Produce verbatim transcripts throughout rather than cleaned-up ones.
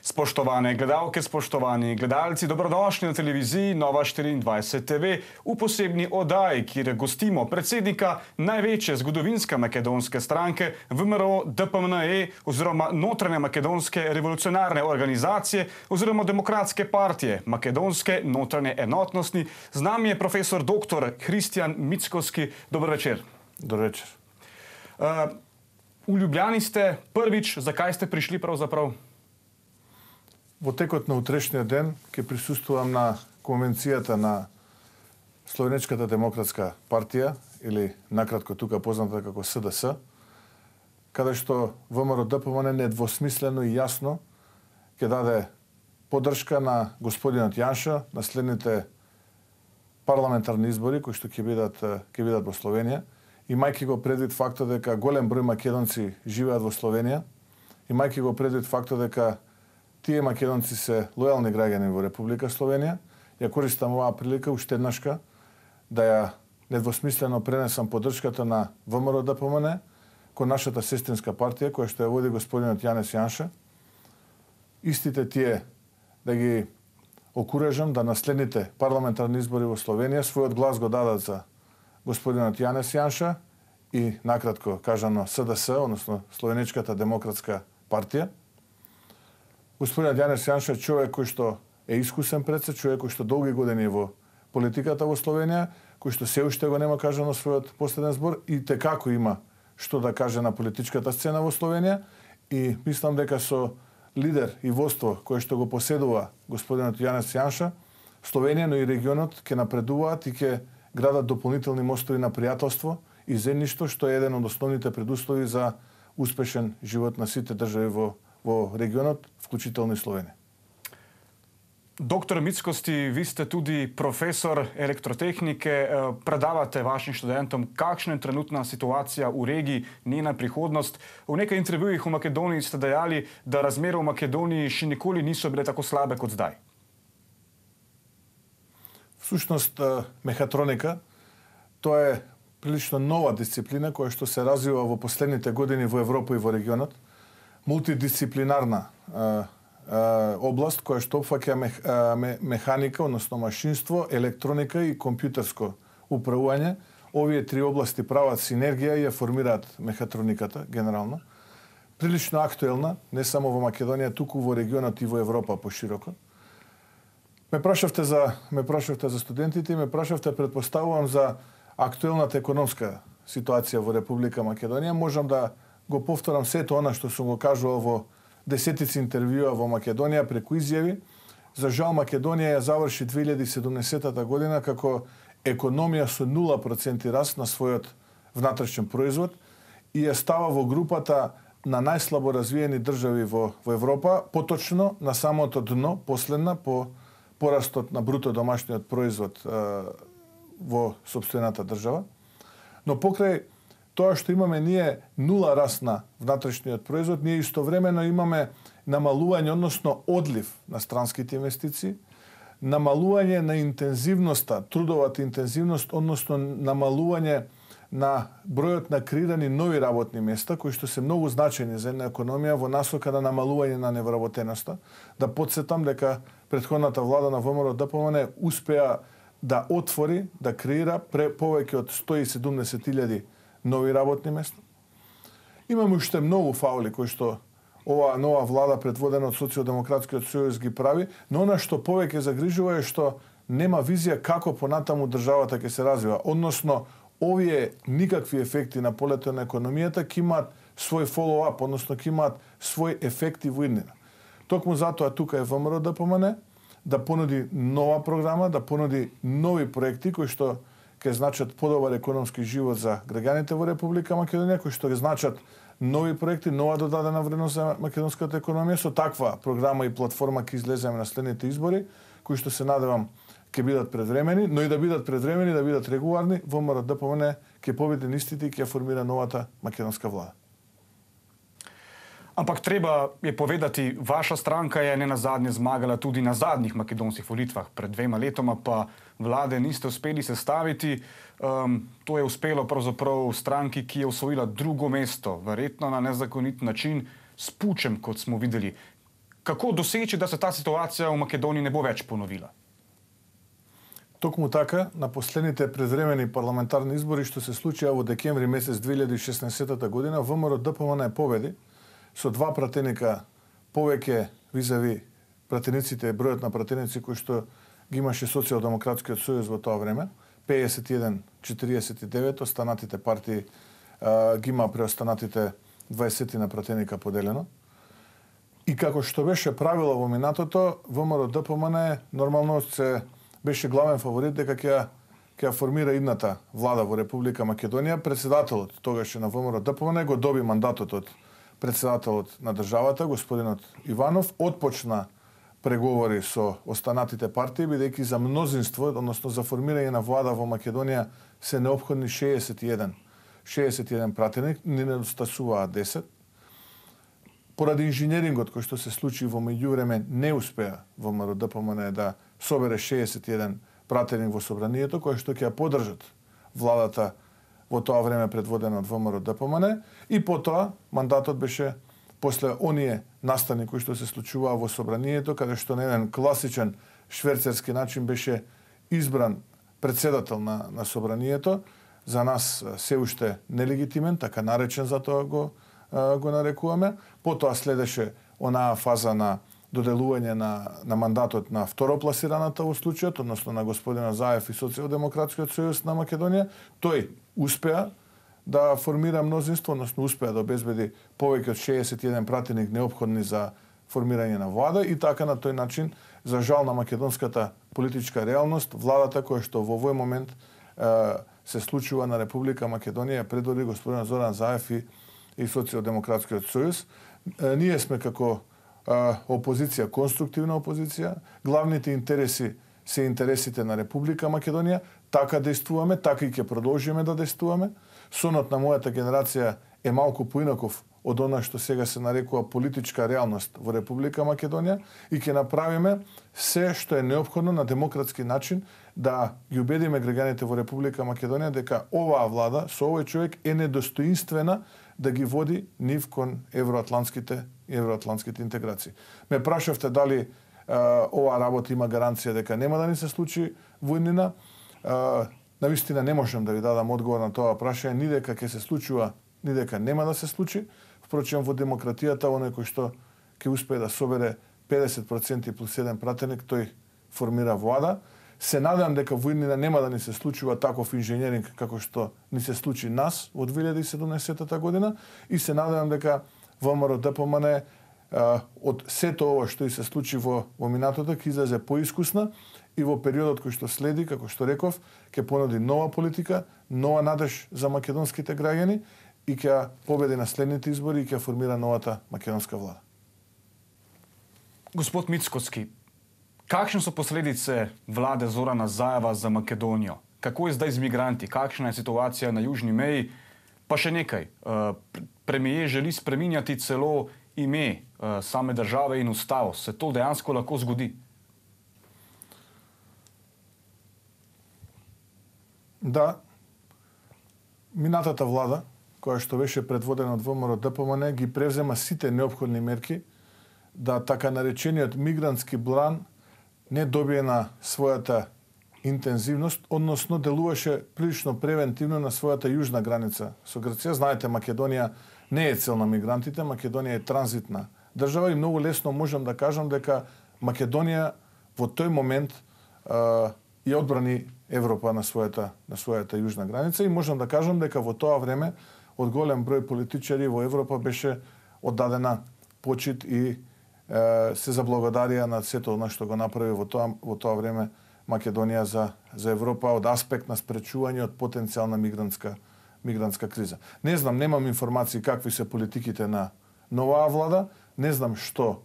Spoštovane gledalke, spoštovani gledalci, dobrodošli na televiziji Nova štiriindvajset T V v posebni oddaji, kjer gostimo predsednika največje zgodovinske makedonske stranke V M R O D P M N E oziroma Notranje makedonske revolucionarne organizacije oziroma Demokratske partije Makedonske notranje enotnosti. Z nami je profesor doktor Hristjan Mickovski. Dober večer. Dober večer. Uh, v Ljubljani ste prvič, zakaj ste prišli pravzaprav? Во текот на утрешниот ден ќе присуствувам на конвенцијата на Словенечката демократска партија, или накратко тука позната како С Д С, каде што В М Р O Д П М Н недвосмислено и јасно ќе даде поддршка на господинот Јанша на следните парламентарни избори кои што ќе бидат ќе бидат во Словенија, имајќи го предвид фактот дека голем број македонци живеат во Словенија, имајќи го предвид фактот дека тие македонци се лојални граѓани во Република Словенија, ја користам оваа прилика уште еднашка да ја недвосмислено пренесам поддршката на В М Р O Д П М Н кон нашата сестринска партија која што ја води господинот Јанес Јанша. Истите тие да ги окуражам да на следните парламентарни избори во Словенија својот глас го дадат за господинот Јанес Јанша и накратко кажано С Д С, односно Словенечката демократска партија. Господинот Јанес Јанша е човек кој што е искусен председ, човек кој што долги години во политиката во Словенија, кој што се уште го нема кажано својот последен збор и текако има што да каже на политичката сцена во Словенија и мислам дека со лидер и воство кој што го поседува господинот Јанес Јанша, Словенија, но и регионот ќе напредуваат и ќе градат дополнителни мостови на пријателство и заедништво, што е еден од основните предуслови за успешен живот на сите држави во во регионот, вклучително и Словенија. Доктор Мицковски, ви сте туди професор електротехнике, предавате вашим студентам какшна е тренутна ситуација у регiji, njena prihodnost. V nekaj intervjujih v Makedoniji ste dejali, da razmere v Makedoniji še nikoli niso bile tako slabe kot zdaj. Всушност, мехатроника, тоа е прилично нова дисциплина која што се развива во последните години во Европа и во регионот. Мултидисциплинарна а, а, област која што опфаќа мех, а, механика, односно машинство, електроника и компјутерско управување. Овие три области прават синергија и ја формираат мехатрониката генерално. Прилично актуелна, не само во Македонија, туку во регионот и во Европа пошироко. Ме прашавте за ме прашавте за студентите и ме прашавте, претпоставувам, за актуелната економска ситуација во Република Македонија. Можам да го повторам сето она што сум го кажувал во десетици интервјуа во Македонија преку изјави. За жал Македонија ја заврши две илјади и седумдесетата година како економија со нула проценти раст на својот внатрешен производ и ја става во групата на најслабо развиени држави во, во Европа, поточно на самото дно, последна по порастот на бруто домашниот производ е, во сопствената држава. Но покрај тоа што имаме ние нула раст на внатрешниот производ, ние истовремено имаме намалување, односно одлив на странските инвестиции, намалување на интензивноста, трудовата интензивност, односно намалување на бројот на креирани нови работни места, кои што се многу значајни за една економија во насока на намалување на невработеноста. Да подсетам дека претходната влада на В М Р O Д П М Н успеа да отвори, да креира повеќе од сто и седумдесет илјади нови работни места. Имаме уште многу фаули кои што оваа нова влада предводена од Социјалдемократскиот сојуз ги прави, но она што повеќе загрижува е што нема визија како понатаму државата ќе се развива, односно овие никакви ефекти на полето на економијата ќе имаат свој follow-up, односно ќе имаат свој ефекти во иднина. Токму затоа тука е В М Р O Д П М Н да понуди нова програма, да понуди нови проекти кои што ќе значат подобар економски живот за граѓаните во Република Македонија, кои што ќе значат нови проекти, нова додадена вредност за македонската економија. Со таква програма и платформа ќе излеземе на следните избори, кои што се надевам ќе бидат предвремени, но и да бидат предвремени, да бидат регуларни, В М Р O Д П М Н ќе победи нистите и ќе формира новата македонска влада. Ampak treba je povedati, vaša stranka je ne nazadnje zmagala tudi na zadnjih makedonskih volitvah. Pred dvema letoma pa vlade niste uspeli sestaviti. Um, to je uspelo pravzaprav stranki, ki je osvojila drugo mesto, verjetno na nezakonit način, s pučem, kot smo videli. Како досечи да се таа ситуација во Македонија не бо веќе поновила? Токму така, на последните предвремени парламентарни избори што се случија во декември месец две илјади и шеснаесетта година, ВМРО-ДПМН победи со два пратеника повеќе визави пратениците, бројот на пратеници кои што ги имаше Социјалдемократскиот сојуз во тоа време, педесет и еден четириесет и девет, останатите партии а, ги има преостанатите дваесет на пратеника поделено. И како што беше правило во минатото, ВМРО-ДПМН нормално се беше главен фаворит дека ќе ќе формира идната влада во Република Македонија. Председателот тогаш на ВМРО-ДПМН го доби мандатот од председателот на државата, господинот Иванов, отпочна преговори со останатите партии, бидејќи за мнозинство, односно за формирање на влада во Македонија се неопходни шеесет и еден, шеесет и еден пратеник, не недостасуваат десет. Поради инженерингот кој што се случи во меѓувреме, не успеа ВМРО-ДПМН да собере шеесет и еден пратеник во собранието, кој што ќе ја поддржат владата во тоа време предводена од ВМРО-ДПМН, и потоа мандатот беше после оние настани кои што се случуваа во собранието, каде што на еден класичен шверцерски начин беше избран председател на, на собранието, за нас се уште нелегитимен, така наречен затоа го, го нарекуваме. Потоа следеше онаа фаза на доделување на, на мандатот на второпласираната во случајот, односно на господина Заев и Социјалдемократскиот сојуз на Македонија. Тој успеа да формира мнозинство, односно успеа да обезбеди повеќе од шеесет и еден пратеник неопходни за формирање на влада, и така на тој начин, за жал на македонската политичка реалност, владата која што во овој момент е, се случува на Република Македонија предводи господин Зоран Заев и, и Социјалдемократскиот сојуз. Е, ние сме како е, опозиција, конструктивна опозиција, главните интереси се интересите на Република Македонија, така действуваме, така и ќе продолжиме да действуваме. Сонот на мојата генерација е малку поинаков од она што сега се нарекува политичка реалност во Република Македонија, и ќе направиме се што е неопходно на демократски начин да ги убедиме граѓаните во Република Македонија дека оваа влада со овој човек е недостоинствена да ги води нив кон евроатлантските евроатлантските интеграции. Ме прашавте дали а, оваа работа има гаранција дека нема да ни се случи војнина. А, Навистина не можам да ви дадам одговор на тоа прашање, ни дека ќе се случува, ни дека нема да се случи. Впрочем, во демократијата, оној кој што ќе успее да собере педесет проценти плюс еден пратеник, тој формира влада. Се надевам дека војнина нема да ни се случува таков инженеринг како што ни се случи нас во две илјади и седумнаесетта година, и се надевам дека ВМРО-ДПМН од сето ова што и се случи во, во минатото ќе излезе поискусна, и во периодот кој што следи, како што реков, ќе понуди нова политика, нова надеж за македонските граѓани, и ќе победи на следните избори и ќе формира новата македонска влада. Господ Мицкоски, какви се последице владе Зорана Заева за Македонија? Како е здај мигранти? Каква е ситуација на јужни меи? Па ше некај. Премиер жели спремињати цело име саме државе и уставот. Се то дејанско лако згоди? Да, минатата влада, која што беше предводена од ВМРО-ДПМН, ги превзема сите неопходни мерки да така наречениот мигрантски блан не добие на својата интензивност, односно делуваше прилично превентивно на својата јужна граница со Грција. Знаете, Македонија не е цел на мигрантите, Македонија е транзитна држава, и многу лесно можам да кажам дека Македонија во тој момент е, и одбрани Европа на својата на својата јужна граница, и можам да кажам дека во тоа време од голем број политичари во Европа беше оддадена почит и е, се заблагодарија на сето она што го направи во тоа во тоа време Македонија за за Европа од аспект на спречување од потенцијална мигрантска мигрантска криза. Не знам, немам информации какви се политиките на новаа влада, не знам што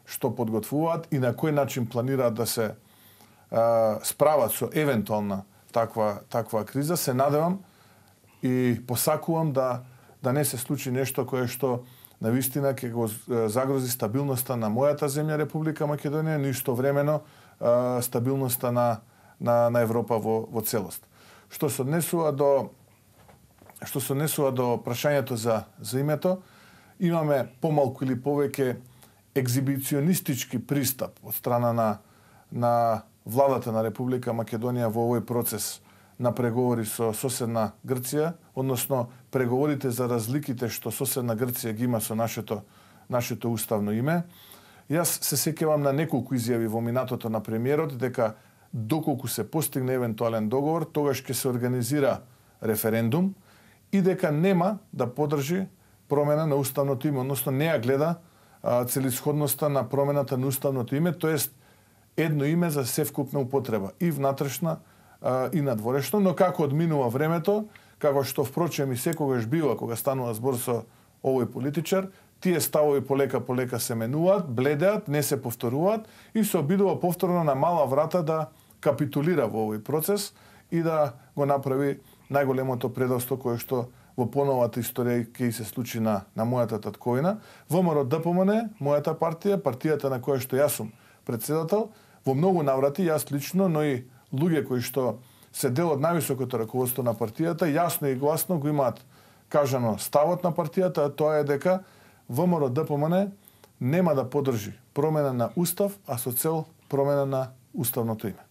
што подготвуваат и на кој начин планираат да се справат со евентуална таква таква криза. Се надевам и посакувам да да не се случи нешто кое што навистина ќе го загрози стабилноста на мојата земја Република Македонија, но истовремено стабилноста на на на Европа во во целост. Што се однесува до што се однесува до прашањето за за името, имаме помалку или повеќе екзибиционистички пристап од страна на, на владата на Република Македонија во овој процес на преговори со соседна Грција, односно преговорите за разликите што соседна Грција ги има со нашето, нашето уставно име. Јас се сеќавам на неколку изјави во минатото на премиерот дека доколку се постигне евентуален договор, тогаш ќе се организира референдум и дека нема да подржи промена на уставното име, односно не ја гледа а, целисходноста на промената на уставното име, тоест едно име за севкупна употреба и внатрешна а, и надворешно, но како одминува времето, како што впрочем и секогаш бива кога станува збор со овој политичар, тие ставови полека полека се менуваат, бледеат, не се повторуваат и се обидува повторно на мала врата да капитулира во овој процес и да го направи најголемото предавство кое што во поновата историја ќе се случи на, на мојата татковина. ВМРО-ДПМН, мојата партија, партијата на која што јас сум председател, во многу наврати, јас лично, но и луѓе кои што се дел од највисокото раководство на партијата, јасно и гласно го имаат кажано ставот на партијата, а тоа е дека ВМРО-ДПМН нема да подржи промена на устав, а со цел промена на уставното име.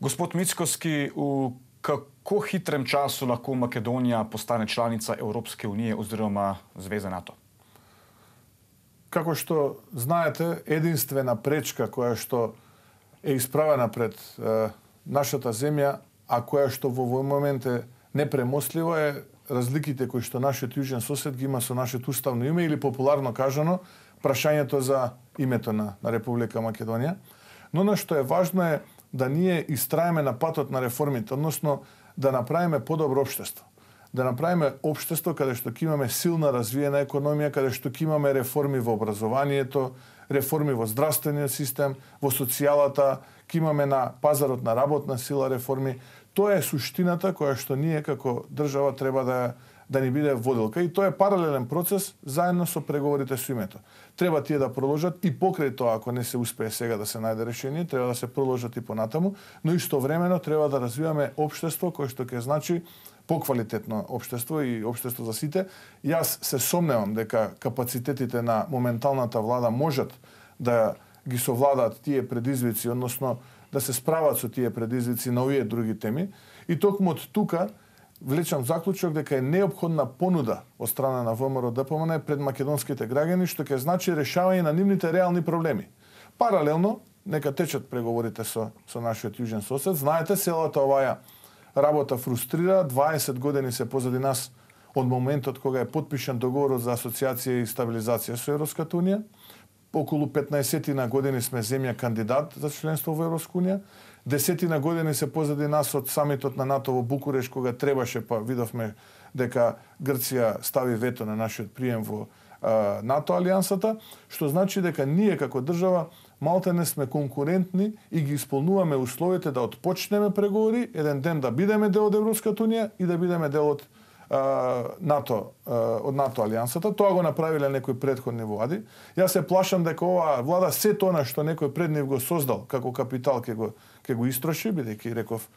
Господ Мицкоски, у како хитрем часу лако Македонија постане чланица Европске унije озирома Звеза НАТО? Како што знаете, единствена пречка која што е исправена пред е, нашата земја, а која што во овој момент е непремостлива, е разликите кои што нашиот јужен сосед ги има со нашето уставно име или популарно кажано прашањето за името на, на Република Македонија. Но на што е важно е да ние истраеме на патот на реформите, односно да направиме подобро општество. Да направиме општество каде што ќе имаме силна развиена економија, каде што ќе имаме реформи во образованието, реформи во здравствениот систем, во социјалата, ќе имаме на пазарот на работна сила реформи. Тоа е суштината која што ние како држава треба да да ни биде водилка и тоа е паралелен процес заедно со преговорите со името. Треба тие да продолжат и покрај тоа, ако не се успее сега да се најде решение, треба да се продолжат и понатаму, но истовремено треба да развиваме општество кое што ќе значи поквалитетно општество и општество за сите. Јас се сомневам дека капацитетите на моменталната влада можат да ги совладаат тие предизвици, односно да се справат со тие предизвици на овие други теми. И токму од тука влечам заклучок дека е неопходна понуда од страна на ВМРО-ДПМН пред македонските граѓани, што ќе значи решавање на нивните реални проблеми. Паралелно, нека течат преговорите со, со нашиот јужен сосед. Знаете, целата оваа работа фрустрира. дваесет години се позади нас од моментот кога е потпишан договорот за асоциација и стабилизација со Европската унија. Околу петнаесет години сме земја кандидат за членство во Европска унија. Десетина години се позади нас од самитот на НАТО во Букуреш, кога требаше, па видовме дека Грција стави вето на нашиот прием во а, НАТО алијансата, што значи дека ние како држава малтене сме конкурентни и ги исполнуваме условите да отпочнеме преговори, еден ден да бидеме дел од Европската унија и да бидеме дел од НАТО, од НАТО алијансата. Тоа го направиле некои претходни влади. Јас се плашам дека оваа влада се тоа што некој пред нив го создал како капитал ќе го ќе го истроши, бидејќи реков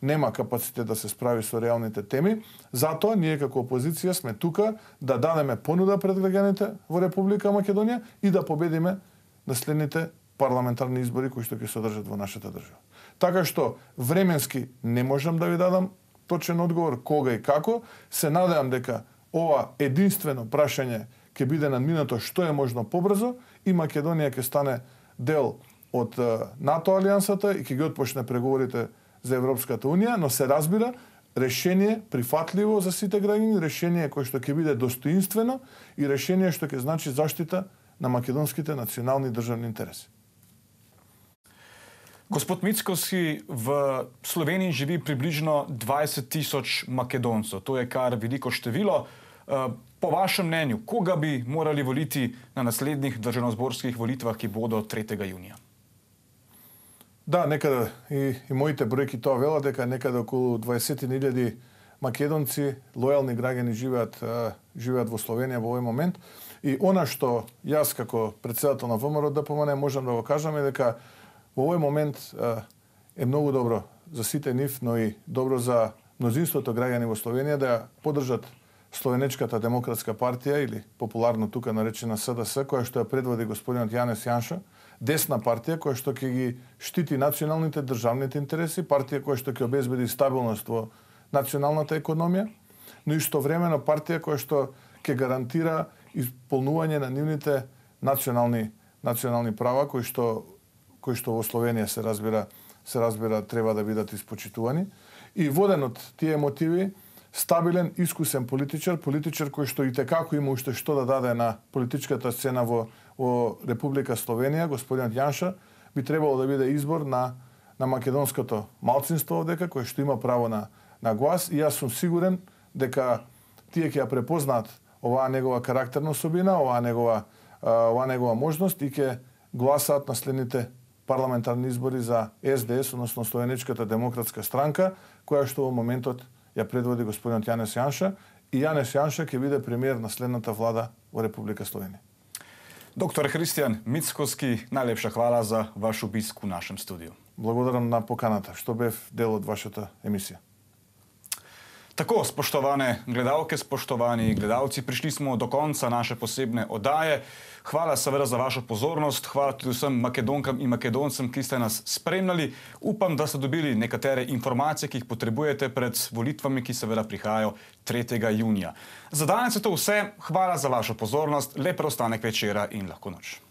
нема капацитет да се справи со реалните теми. Затоа ние како опозиција сме тука да дадеме понуда пред граѓаните во Република Македонија и да победиме на следните парламентарни избори кои што ќе се одржат во нашата држава. Така што временски не можам да ви дадам точен одговор кога и како. Се надевам дека ова единствено прашање ќе биде надминато што е можно побрзо и Македонија ќе стане дел од НАТО алијансата и ќе ги отпочне преговорите за Европската унија, но се разбира решение прифатливо за сите граѓани, решение кое што ќе биде достоинствено и решение што ќе значи заштита на македонските национални државни интереси. Господ Мицкоски, в Словенiji živi približno dvajset tisoč Makedoncev. To je kar veliko število. Po vašem mnenju, koga bi morali voliti na naslednjih državnozborskih volitvah, ki bodo tretjega junija? Да, некаде и, и моите бројки тоа велат дека некаде околу дваесет илјади македонци, лојални граѓани живеат живеат во Словенија во овој момент. И она што јас како председател на ВМРО-ДПМН можам да го кажам е дека во овој момент е многу добро за сите нив, но и добро за мнозинството граѓани во Словенија да ја поддржат Словенечката демократска партија или популарно тука наречена С Д С, која што ја предводи господинот Јанес Јанша, десна партија која што ќе ги штити националните државните интереси, партија која што ќе обезбеди стабилност во националната економија, но истовремено партија која што ќе гарантира исполнување на нивните национални национални права кои што кои што во Словенија се разбира се разбира треба да бидат испочитувани. И воден од тие мотиви, стабилен, искусен политичар, политичар кој што и текако има уште што да даде на политичката сцена во, во Република Словенија, господинот Јанша, би требало да биде избор на, на македонското малцинство овдека, кој што има право на, на глас. И јас сум сигурен дека тие ќе ја препознаат оваа негова карактерна особина, оваа негова, оваа негова можност и ќе гласаат на следните парламентарни избори за С Д С, односно Словенечката демократска странка, која што во моментот ја предводи господинот Јанес Јанша, и Јанес Јанша ќе биде премиер на следната влада во Република Словенија. Доктор Христијан Мицкоски, најлепша хвала за ваш обиск у нашем студио. Благодарам на поканата, што бев дел од вашата емисија. Тако, споштоване гледалке, споштовани гледалци, пришли smo do konca naše posebne oddaje. Hvala seveda za vašo pozornost, hvala tudi vsem Makedonkam in Makedoncem, ki ste nas spremljali. Upam, da ste dobili nekatere informacije, ki jih potrebujete pred volitvami, ki seveda prihajajo tretjega junija. Za danes je to vse, hvala za vašo pozornost, lep preostanek večera in lahko noč.